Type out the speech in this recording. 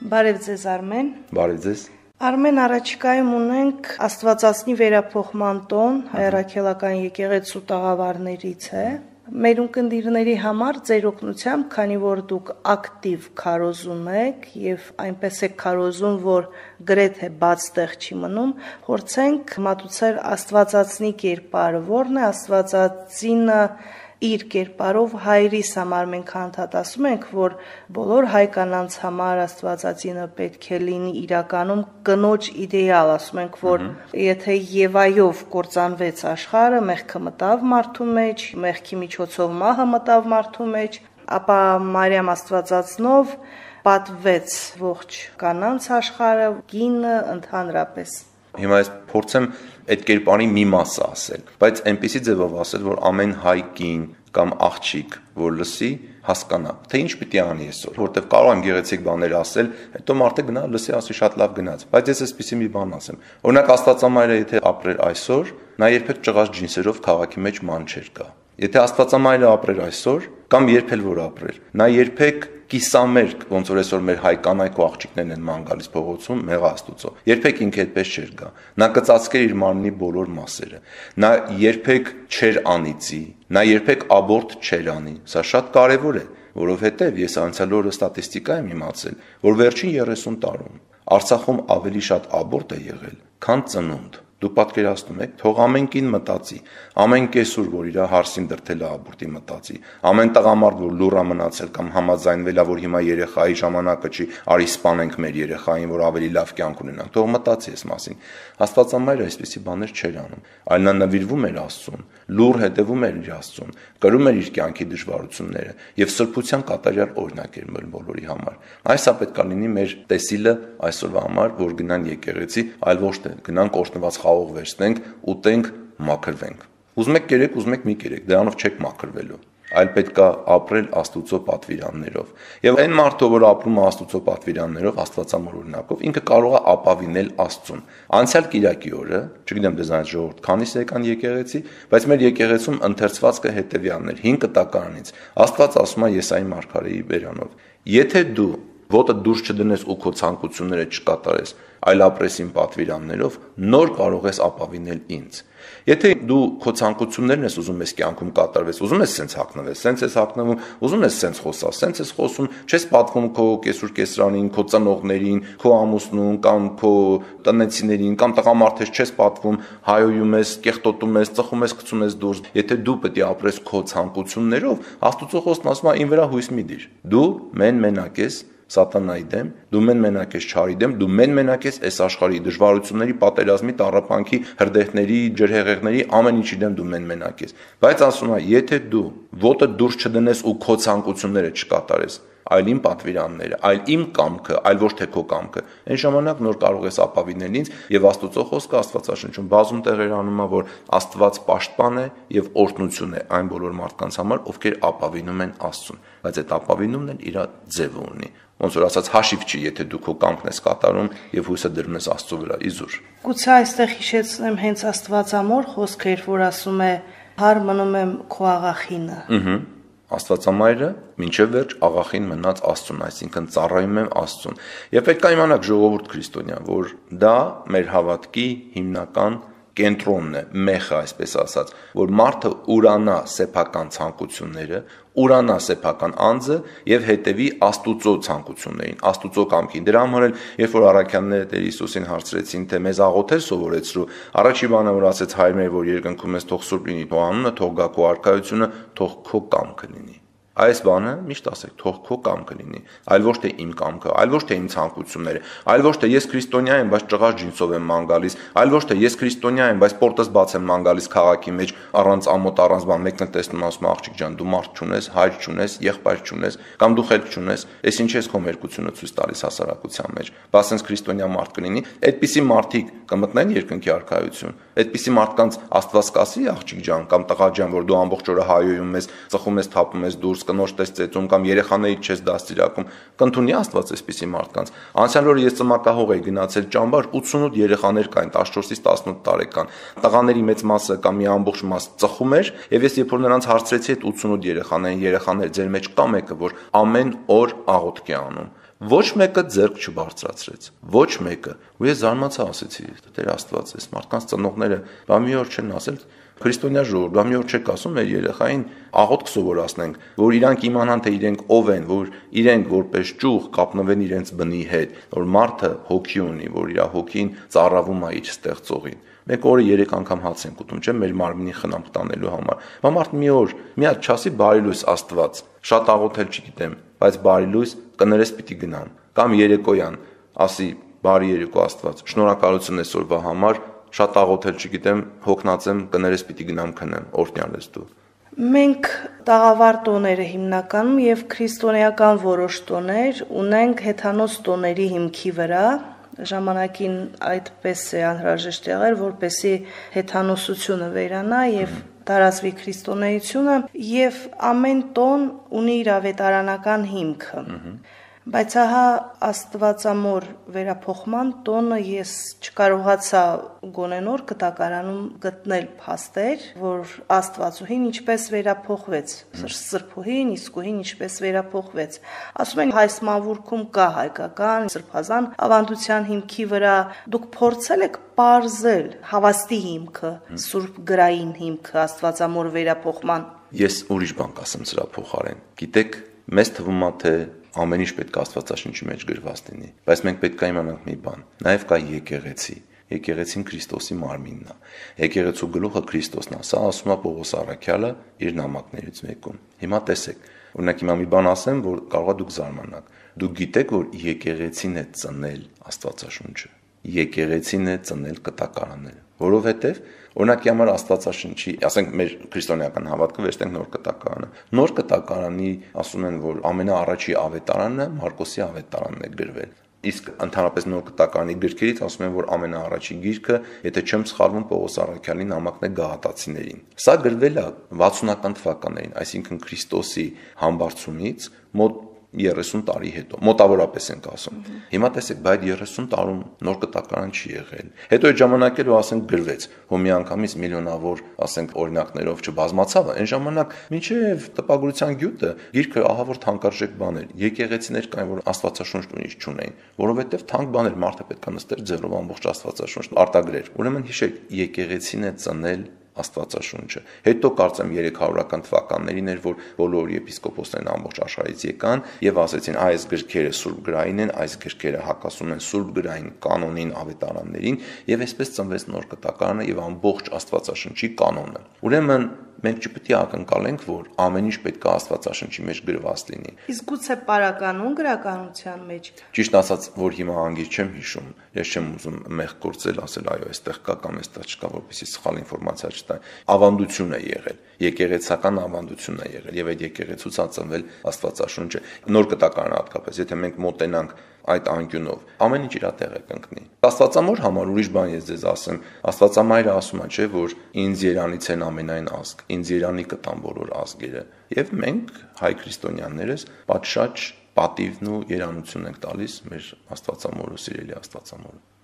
Բարև ձեզ Արմեն։ Բարև ձեզ։ Արմեն, առաջիկայում ունենք Աստվածածնի վերափոխման տոն, հայրաքելական եկեղեցու տաղավարներից է։ Մեր ունկնդիրների համար ձեր օգնությամբ, քանի որ դուք ակտիվ քարոզում եք եւ այնպես եք քարոզում, որ գրեթե բաց տեղ չի մնում, փորձենք մատուցել Աստվածածնի կերպարը, որն է Աստվածածինը իր կերպարով հայրիս համար մենք անդադասում ենք, որ բոլոր հայ կանանց համար Աստվածածինը պետք է լինի իրականում կնոջ իդեալ, ասում ենք, որ եթե Եվայով կործանվեց աշխարհը, մեղքը մտավ մարդու մեջ, մեղքի միջոցով մահը մտավ մարդու մեջ, ապա Մարիամ Աստվածածնով պատվեց ողջ կանանց աշխարհը, կինը ընդհանրապես։ Հիմա ես փորձեմ այդ կերպարի մի մասը ասել, բայց այնպեսի ձևով ասել, որ ամեն հայ կին կամ աղջիկ, որ լսի, հասկանա, թե ինչ պիտի անի այսօր, որտեվ կարող եմ գեղեցիկ բաներ ասել, հետո մարդը գնա լսի, ասի շատ լավ գնաց, բայց ես այսպեսի մի բան ասեմ։ Օրինակ Աստվածամայրը եթե ապրեր այսօր, նա երբեք ճղած ջինսերով քաղաքի մեջ ման չէր գա։ Եթե Աստվածամայրը ապրեր այսօր, կամ երբել որ ապրեր, նա երբեք կիսամերկ, ոնց որ այսօր մեր հայ կանայք ու աղջիկներն են ման գալիս փողոցում, մեղա Աստուծո։ Երբեք ինքը այդպես չէր գա։ Նա կծածկեր իր մարմնի բոլոր մասերը։ Նա երբեք չէր անիծի, նա երբեք աբորտ չէր անի։ Սա շատ կարևոր է, որովհետև ես անցյալ օրը ստատիստիկա եմ իմացել, որ վերջին 30 տարում Արցախում ավելի շատ աբորտ է եղել, քան ծնունդ։ Դուք պատկերացնում եք, թող ամեն կին մտածի, ամեն կեսուր, որ իր հարսին դրթել է աբորտի մտածի, ամեն տղամարդ, որ լուռ է մնացել կամ համաձայնվել է, որ հիմա երեխայի ժամանակը չի, արի սպանենք մեր երեխային, որ ավելի լավ կյանք ունենանք, թող մտածի այս մասին։ Աստվածամայրը այսպիսի բաներ չէր անում, այլ նա նվիրվում էր Աստծուն, լուռ հետևում էր իր Աստծուն, կրում էր իր կյանքի դժվարությունները եւ սրբության կատարյալ օրինակ էր մեր բոլորի համար։ Այսա պետք է լինի մեր տեսիլը այսօրվա համար, որ գնան եկեղեցի, այլ ոչ թե գնանք օրհնված խաղող վերցնենք, ուտենք, մաքրվենք։ Ուզում եք կերեք, ուզում եք մի կերեք, դրանով չեք մաքրվելու, այլ պետք է ապրել Աստուծո պատվիրաններով։ Եվ այն մարդը, որ ապրում է Աստուծո պատվիրաններով, Աստվածամոր օրինակով, ինքը կարող է ապավինել Աստծուն։ Անցյալ Կիրակի օրը, չգիտեմ դեզանից ժողովուրդ քանիս եկան եկեղեցի, բայց մեր եկեղեցում ընթերցվածքը հետևյալն էր 5 կտակարանից։ Աստված ասում է Եսայի մարգարեի բերանով. Եթե դու ոտը դուրս չդնես ու քո ցանկությունները չկատարես, այլ ապրես իմ պատվիրաններով, նոր կարող ես ապավինել ինձ։ Եթե դու քո ցանկություններն ես ուզում ես կյանքում կատարվես, ուզում ես սենց հագնվես, սենց ես հագնվում, ուզում ես սենց խոսաս, սենց ես խոսում, չես պատվում քո կեսուր կեսրանին, քո ծնողներին, քո ամուսնուն կամ քո տնեցիներին կամ տղամարդես չես պատվում, հայոյում ես, կեղտոտում ես, ծխում ես, գցում ես դուրս։ Եթե դու պետք է ապրես քո ցանկություններով, Աստուծո խոսքն ասում է՝ ին վրա հույս մի դիր։ Դու մենակ ես Սատանայի դեմ, դու մենակ ես չարի դեմ, դու մենակ ես այս աշխարհի դժվարությունների, պատերազմի, տառապանքի, հրդեհների, ջրհեղեղների ամեն ինչի դեմ դու մենակ ես։ Բայց ասում է, եթե դու ոտը դուրս չդնես ու քո ցանկությունները չկատարես, այլ իմ պատվիրանները, այլ իմ կամքը, այլ ոչ թե քո կամքը, այն ժամանակ նոր կարող ես ապավինել ինձ եւ Աստուծո խոսքը Աստվածաշնչում բազում տեղեր անում է, որ Աստված պաշտպան է եւ օրհնություն է այն բոլոր մարդկանց համար, ովքեր ապավինում են Աստծուն, բայց այդ ապավինումն էլ իր ձևը ունի։ Ոնց որ ասած հաշիվ չի, եթե դու քո կամքն ես կատարում եւ հույսը դրում ես Աստծո վրա, իզուր։ Գուցե այստեղ հիշեցնեմ հենց Աստվածամոր խոսքեր, որ ասում է՝ «Հարմնում եմ քո աղախինը»։ Աստվածամայրը մինչև վերջ աղախին մնաց Աստծուն, այսինքն ծառայում եմ Աստծուն։ Եվ պետք է իմանաք ժողովուրդ քրիստոնյա, որ դա մեր հավատքի հիմնական կենտրոնն է, մեխը այսպես ասած, որ մարդը ուրանա սեփական ցանկությունները, ուրանա սեփական անձը եւ հետեւի Աստուծո ցանկություններին, Աստուծո կամքին։ Դրա համար էլ երբ որ առաքյանները Տեր Հիսուսին հարցրեցին, թե մեզ աղոթել սովորեցրու, առաջի բանը որ ասեց հայր մեր, որ երկնքում ես, թող սուրբ լինի քո անունը, թող գա քո արքայությունը, թող քո կամքը լինի։ Այս բանը միշտ ասեք, թող քո կամքը լինի, այլ ոչ թե իմ կամքը, այլ ոչ թե իմ ցանկությունները, այլ ոչ թե ես քրիստոնյա եմ, բայց ճղած ջինսով եմ ման գալիս, այլ ոչ թե ես քրիստոնյա եմ, բայց պորտս բաց եմ ման գալիս քաղաքի մեջ, առանց ամոթ, առանց բան, մեկն տեսնում ասում աղջիկ ջան, դու մարդ չունես, հայր չունես, եղբայր չունես, կամ դու խելք չունես, այս ինչ ես քո մերկությունը ցույց տալիս հասարակության մեջ։ Բա ասենց քրիստոնյա մարդ կլինի, այդպիսի մարդիկ կմտնեն երկնքի արքայություն։ Այդպիսի մարդկանց Աստված կասի աղջիկ ջան կամ տղա ջան, որ դու ամբողջ օրը հայոյում ես, ծխում ես, թափում ես դուրս, կնոջ տեսծեցում կամ երեխաներից չես դաստիարակում, կընդունի Աստված այսպիսի մարդկանց։ Անցյալ օրը ես ծմակահող էի գնացել ճամբար, 88 երեխաներ կային 14-ից 18 տարեկան։ Տղաների մեծ մասը կամ մի ամբողջ մաս ծխում էր, եւ ես երբ որ նրանց հարցրեցի այդ 88 երեխաներ, ձեր մեջ կա մեկը, որ ամեն օր աղոթք է անում, Ոչ մեկը ձեռք չբարձրացրեց, ոչ մեկը։ Ու ես զարմացա, ասեցի, Տեր Աստված, այս մարդկանց ծնողները բա մի օր չեն ասել քրիստոնյա ժողովուրդ, բա մի օր չեք ասում մեր երեխային աղոթք սովորացնենք, որ իրանք իմանան թե իրենք ով են, որ իրենք որպես ճյուղ կապնվեն իրենց բնի հետ, որ մարդը հոգի ունի, որ իր հոգին ծառավում է իր ստեղծողին։ Մեկ օրը 3 անգամ հաց ենք ուտում, չէ՞, մեր մարմինի խնամք տանելու համար։ Բա մարդ մի օր մի հատ չասի բարի լույս Աստված, շատ աղոթել չգիտեմ, բայց բարի լույս կներես պիտի գնամ, կամ երեկոյան ասի բարի երեկո Աստված, շնորհակալություն այսօրվա համար, շատ աղոթել չգիտեմ, հոգնած եմ, կներես պիտի գնամ քնեմ, օրհնյալ ես դու։ Մենք տաղավար տոները հիմնականում եւ քրիստոնեական որոշ տոներ ունենք հեթանոս տոների հիմքի վրա, ժամանակին այդպես է անհրաժեշտ եղել, որպեսզի հեթանոսությունը վերանա եւ տարածվի քրիստոնեությունը, եւ ամեն տոն ունի իր ավետարանական հիմքը։ Բայց ահա Աստվածամոր վերափոխման տոնը ես չկարողացա գոնե նոր կտակարանում գտնել փաստեր, որ Աստվածուհին ինչպես վերափոխվեց, սրբուհին, իսկուհին ինչպես վերափոխվեց։ Ասում են հայ սմավուրքում կա հայկական սրբազան ավանդության հիմքի վրա, դուք փորձել եք պարզել հավաստի հիմքը, սուրբ գրային հիմքը Աստվածամոր վերափոխման։ Ես ուրիշ բան կասեմ սրա փոխարեն։ Գիտեք, մեզ թվում է թե ամեն ինչ պետք է Աստվածաշնչի մեջ գրված լինի, բայց մենք պետք է իմանանք մի բան, նաև կա եկեղեցի։ Եկեղեցին Քրիստոսի մարմինն է։ Եկեղեցու գլուխը Քրիստոսն է։ Սա ասում է Պողոս առաքյալը իր նամակներից մեկում։ Հիմա տեսեք, օրինակ հիմա մի բան ասեմ, որ կարող է դուք զարմանաք։ Դուք գիտեք, որ եկեղեցին է ծնել Աստվածաշունչը։ Եկեղեցին է ծնել կտակարանները, որովհետև օրինակի համար Աստվածաշնչի, ասենք մեր քրիստոնեական հավատքը վերցնենք նոր կտակարանը։ Նոր կտակարանի ասում են, որ ամենաառաջի ավետարանը Մարկոսի ավետարանն է գրվել։ Իսկ ընդհանրապես նոր կտակարանի գրքերից ասում են, որ ամենաառաջի գիրքը, եթե չեմ սխալվում, Պողոս առաքյալի նամակն է Գաղատացիներին։ Սա գրվել է 60-ական թվականներին, այսինքն Քրիստոսի համբարձումից մոտ 30 տարի հետո, մոտավորապես ենք ասում։ Հիմա տեսեք, բայց 30 տարում նոր կտակարան չի եղել։ Հետո այդ ժամանակ էլ ասենք գրվեց, հո միանգամից միլիոնավոր, ասենք օրինակներով չբազմացավ, այն ժամանակ մինչև տպագրության գյուտը գիրքը ահա որ թանկարժեք բան էր։ Եկեղեցիներ կային, որ Աստվածաշունչ տունից չունեին, որովհետև թանկ բան էր, մարդը պետք է նստեր ձեռով ամբողջ Աստվածաշունչ արտագրեր։ Ուրեմն հիշեք, եկեղեցին է ծնել Աստվածաշունչը։ Հետո կարծեմ 300-ական թվականներին էր, որ բոլոր եպիսկոպոսներն ամբողջ աշխարհից եկան եւ ասեցին, այս գրքերը սուրբ գրային են, այս գրքերը հակասում են սուրբ գրային կանոնին, ավետարաններին, եւ այսպես ծնվեց նոր կտակարանը եւ ամբողջ Աստվածաշնչի կանոնը։ Ուրեմն մենք չպետք է ակնկալենք, որ ամեն ինչ պետք է Աստվածաշնչի մեջ գրված լինի։ Իսկ գուցե պարականուն գրականության մեջ։ Ճիշտ ասած, որ հիմա անգիր չեմ հիշում, ես չեմ ուզում մեղք գործել, ասել այո, այստեղ կա կամ այստեղ չկա, որպեսզի սխալ ինֆորմացիա չտա։ Ավանդություն է եղել, եկեղեցական ավանդություն է եղել եւ այդ եկեղեցուց է ծնվել Աստվածաշունչը։ Նոր կտակարանը հատկապես, եթե մենք մոտենանք այդ անկյունով, ամեն ինչ իր տեղը կընկնի։ Աստվածամոր համար ուրիշ բան ես ձեզ ասեմ, Աստվածամայրը ասում է, չէ, որ ինձ երանից են ամենայն ազգ, ինձ երանի կտան բոլոր ազգերը, եւ մենք հայ քրիստոնյաներս պատշաճ պատիվն ու երանություն ենք տալիս մեր Աստվածամորը, սիրելի Աստվածամորը։